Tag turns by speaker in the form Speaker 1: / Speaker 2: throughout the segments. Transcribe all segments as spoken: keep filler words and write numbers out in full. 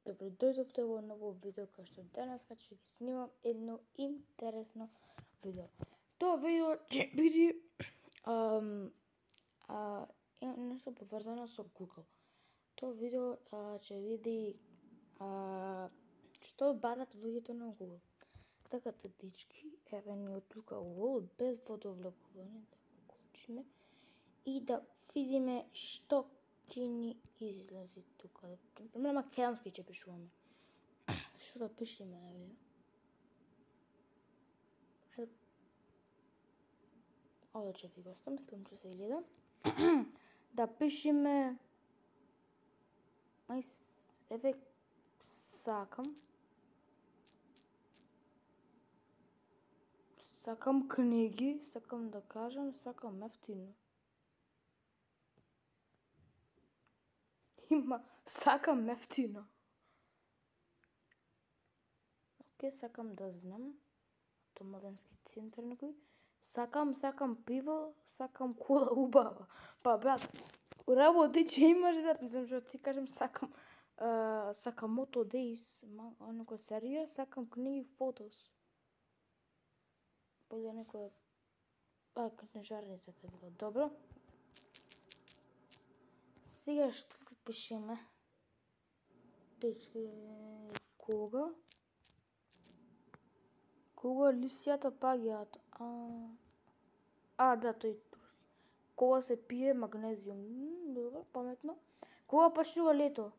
Speaker 1: Добро дојдовте во ново видео, кај што денеска ќе ви снимам едно интересно видео. Тоа видео ќе биде ам, а, нешто поврзано со Google. Тоа видео а, ќе види а, што барат луѓето на Google. Така да, дечки, еве ни од тука Google, без водовлекување, да го клучиме и да видиме што ќе ни излезе тука. На македонски ќе пишуваме. Што да пишеме, еве? Овде ќе ви го оставам, след ќе се гледа. Да пишеме... Ај, еве, сакам. Сакам книги, сакам да кажам, сакам ефтино. Има, сакам ефтино. Океј, сакам да знам. Автомладенски центар некој. Сакам, сакам пиво, сакам кола убава. Па, брат, работи че имаш, брат, не знам што ти кажам, сакам, uh, сакам Moto Days, некоја серија, сакам книги, фотос. Поле некоја, а, книжарницата било, добро. Сега што да пишеме? Дечки, кога? Кога лисијата паѓаат? А, а да, тој турски. Кога се пие магнезиум? М, добро, паметно. Кога почнува лето?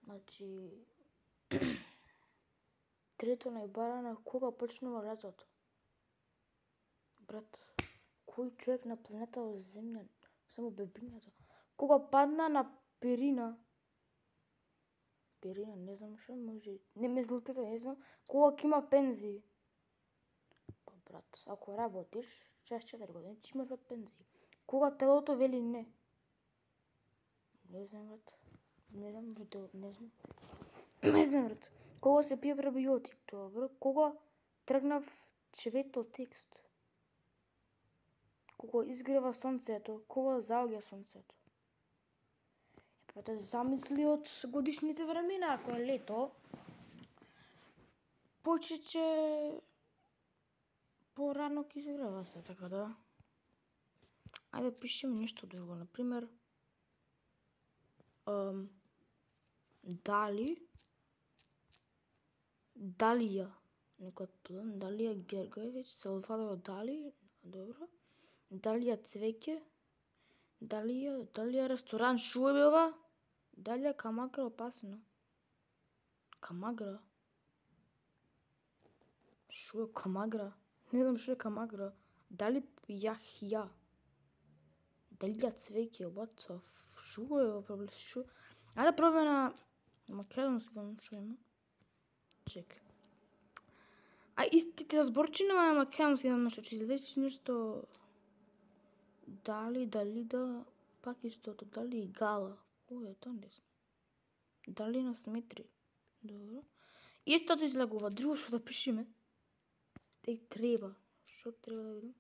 Speaker 1: Значи, трето најбарано, кога почнува летото? Брат, кој човек на планетава Земја, само бебињата, кога падна на Перина? Перина, не знам што, може, не ме злутете, не знам, кога ќе има пензии? Па, брат, ако работиш, шест четири години, ќе имаш брат пензии. Кога телото вели не? Не знам, брат. Не знам, брат, не знам. Не знам, брат. Кога се пие пребиотик? Добро. Кога тргнав цветот текст? Кога изгрева сонцето? Кога заоѓа сонцето? Е, па те замисли од годишните времена, ако е лето, почече порано ќе изгрева се, така да. Ајде пишеме нешто друго, например, um, дали, Далија, некој план, Далија Гергоевич, Салвадор Дали, добро. Далија цвеќе, Далија, Далија ресторан, шо е ова? Далија Камагра, опасно. Камагра? Шо е Камагра? Не знам шо е Камагра. Дали Јахја? Далија цвеќе, what the f... Шо е ова проблем? Шо? Ајде пробаме на македонски, шо има? Чекај. А истите зборчина на македонски, знам што ќе излезе нешто... Дали, дали да... Пак истото, дали и гала. Кој е тоа, не знам. Дали на сметри. Добро. Истото излегува, друго што да пишеме. Теј треба. Што треба да видам?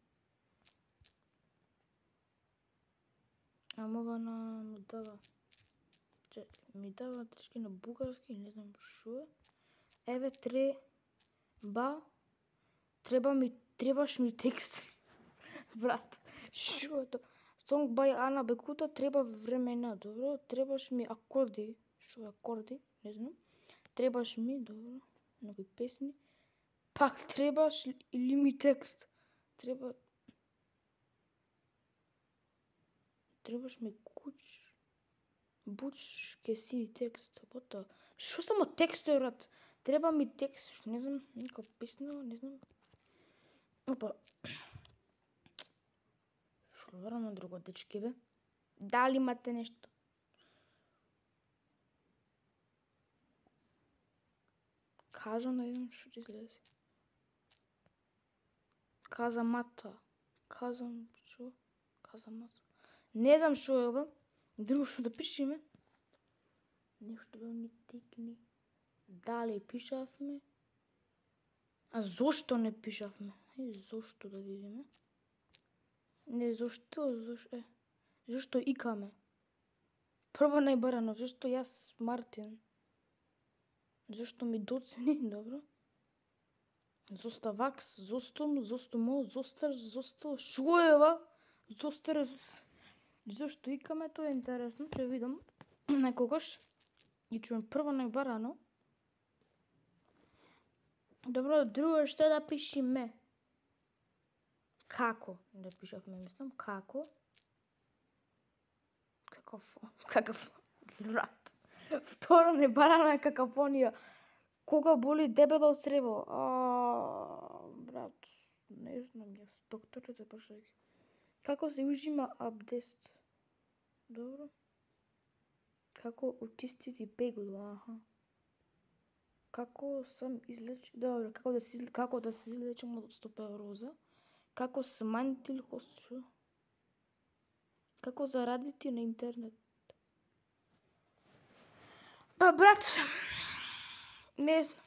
Speaker 1: Ама ова на... ми дава... Че, ми дава тешки на бугарски, не знам шо е. Еве, треба... Треба ми... Требаш ми текст. Брат, шо е тоа? Song by Ана Бекута, треба времена, добро. Требаш ми акорди. Шо е акорди? Не знам. Требаш ми, добро. Некои песни. Пак требаш или ми текст? Треба... Требаш ми куч... Буч ке си текст. Бота. Шо само текст е, брат? Треба ми текст, не знам, некоја песна, не знам. Опа. Шо на друго, дечки, бе? Дали имате нешто? Кажам, да видам шо ќе излезе. Казамата. Казам, шо? Казамата. Не знам шо е ова. Друго што да пишеме. Нешто да ми текни. Дали пишавме? А зошто не пишавме? Е, зошто да видиме? Не, зошто, зошто, е, зошто икаме? Прво најбарано, зашто јас Мартин? Зашто ми доцени, добро? Зоставакс, зостом, зостомо, зостар, зостал, шо е ова? Зостар, зашто икаме, тоа е интересно, ќе видам некогаш. И чуем прво најбарано. Добро, друго што да пишеме? Како? Да пишавме, мислам, како? Каков, каков, брат. Второ небарана е какафонија. Кога боли дебело црево? А, брат, не знам јас, докторите прашајќи. Како се ужима абдест? Добро. Како очистити пегло? Аха. Како сам излеч... Добро, како да се како да се излечам од стопеороза? Како смањити лихостчу? Како зарадити на интернет? Па, брат, не знам.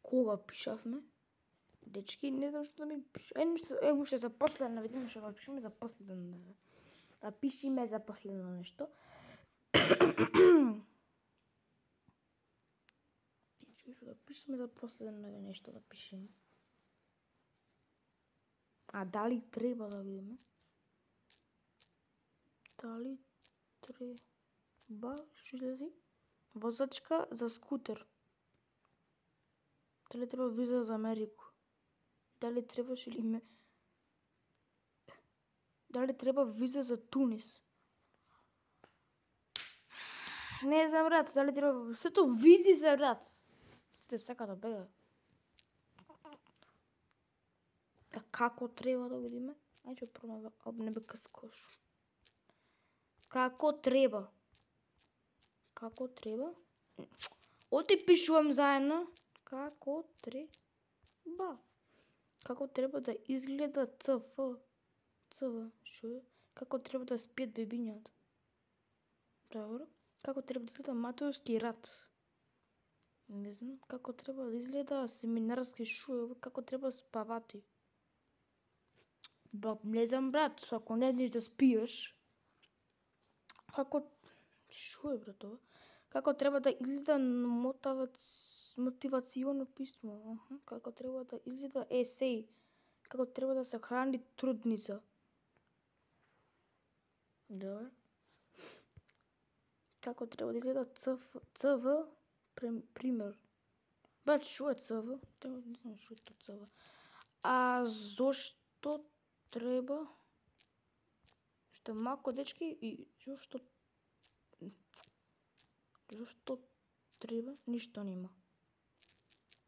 Speaker 1: Кога пишавме? Дечки, не знам што ми пиша. Е, нешто, е, уште за последно, видиме што да пишеме за последно. Да пишеме за последно нешто. Да пишеме за последно нешто да пишеме. А дали треба да видиме? Дали треба, што излези? Возачка за скутер. Дали треба виза за Америку? Дали требаш или ме... Дали треба виза за Тунис? Не знам, брат, дали треба... Сето визи за, брат. Сите сака да бега. А како треба да видиме? Ајде пробаме, об не бе каскош. Како треба? Како треба? Оти пишувам заедно. Како треба? Како треба да изгледа ЦФ? ЦВ, шо е? Како треба да спијат бебињата? Добро. Како треба да изгледа Матеовски рад? Не знам. Како треба да изгледа семинарски шоу? Како треба спавати? Ба, не знам, брат, ако не знаеш да спиеш, како... Шо е, брат, ова? Како треба да изгледа мотавац... мотивационо писмо? Аха. Како треба да изгледа есеј? Како треба да се храни трудница? Добро. Како треба да изгледа ЦФ... ЦВ? Пример. Брат, шо е ЦВ? Треба, не знам шо е то ЦВ. А зошто треба? Што малку дечки и зошто... Зошто треба? Ништо нема.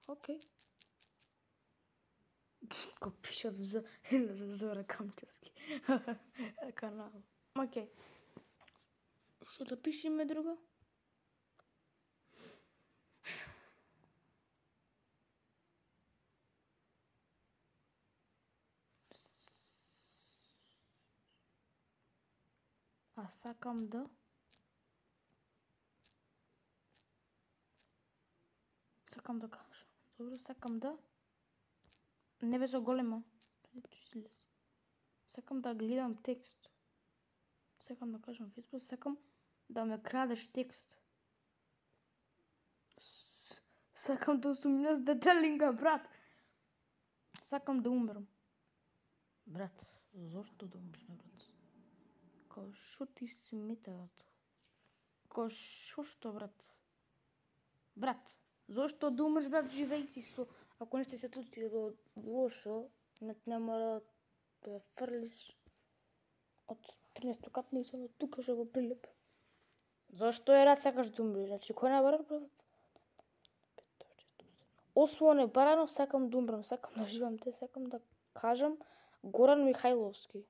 Speaker 1: Океј. Ко пишав за... за Зора Камчевски. Канал. Океј. Што да пишеме друго? А сакам да... Сакам да кажам. Добро, сакам да... Не бе заголема. Сакам да гледам текст. Сакам да кажам Фейсбук, сакам да ме крадеш текст. Сакам да сумњам с детелинга, брат. Сакам да умрам. Брат, зошто да умреш, брат? Као шо ти смета, брат? Као шо што, брат? Брат, зошто да умреш, брат, живеј си, шо? Ако нешто се случи лошо, не, не мора да фрлиш од тринесто катница, од тука што го прилеп. Зошто е рад сакаш да умреш? Значи, кој набарал, брат? Осмо небарано, сакам да умрам, сакам да живам, те сакам да кажам Горан Михајловски.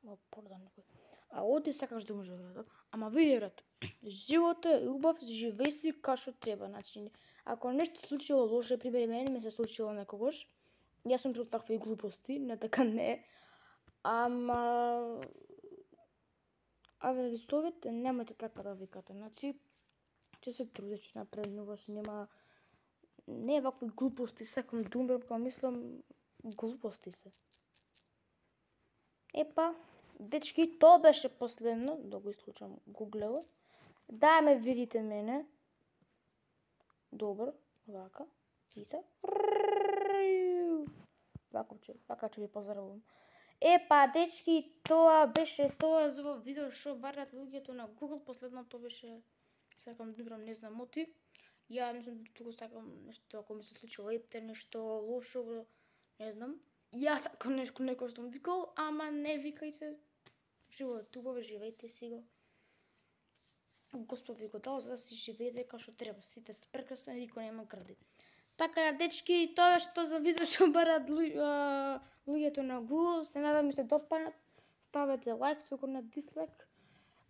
Speaker 1: Ма пордан некој. А оти сакаш да умреш, брат. Ама види, брат, животот е убав, живеј си како што треба. Значи, ако нешто случило лошо, пример мене ми се случило некогаш, јас сум против такви глупости, не така не. Ама Аве ви совете, немајте така да викате. Значи, че се труди, че напреднуваш, нема не вакви глупости, секам думбрам, кога мислам глупости се. Епа, дечки, тоа беше последно, да го исклучам Google-от. Да ме видите мене. Добро, вака, и се. Вака че, вака че ви поздравувам. Епа, дечки, тоа беше тоа за ово видео што барат луѓето на Google. Последното беше, сакам думбрам, не знам оти. Ја не знам туку сакам нешто, ако ми се случи лепте, нешто лошо, не знам. Ја сакам нешто некој што ми викал, ама не викајте. Животот убаво, живејте си го. Господ ви го дал за да си живеете како што треба. Сите се прекрасни, никој нема гради. Така да, дечки, тоа беше тоа за видео што барат луѓето на Google. Се надам ми се допаднат. Ставете лайк, туку на дислайк.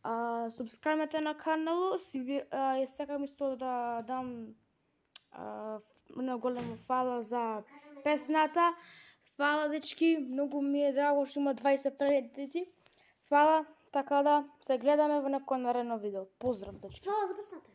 Speaker 1: А, субскрайбнете на каналот. Си а, сакам исто да дам а, многу големо фала за песната. Фала, дечки, многу ми е драго што има дваесет прегледи. Фала, така да се гледаме во некој наредно видео. Поздрав, дечки.
Speaker 2: Фала за песната.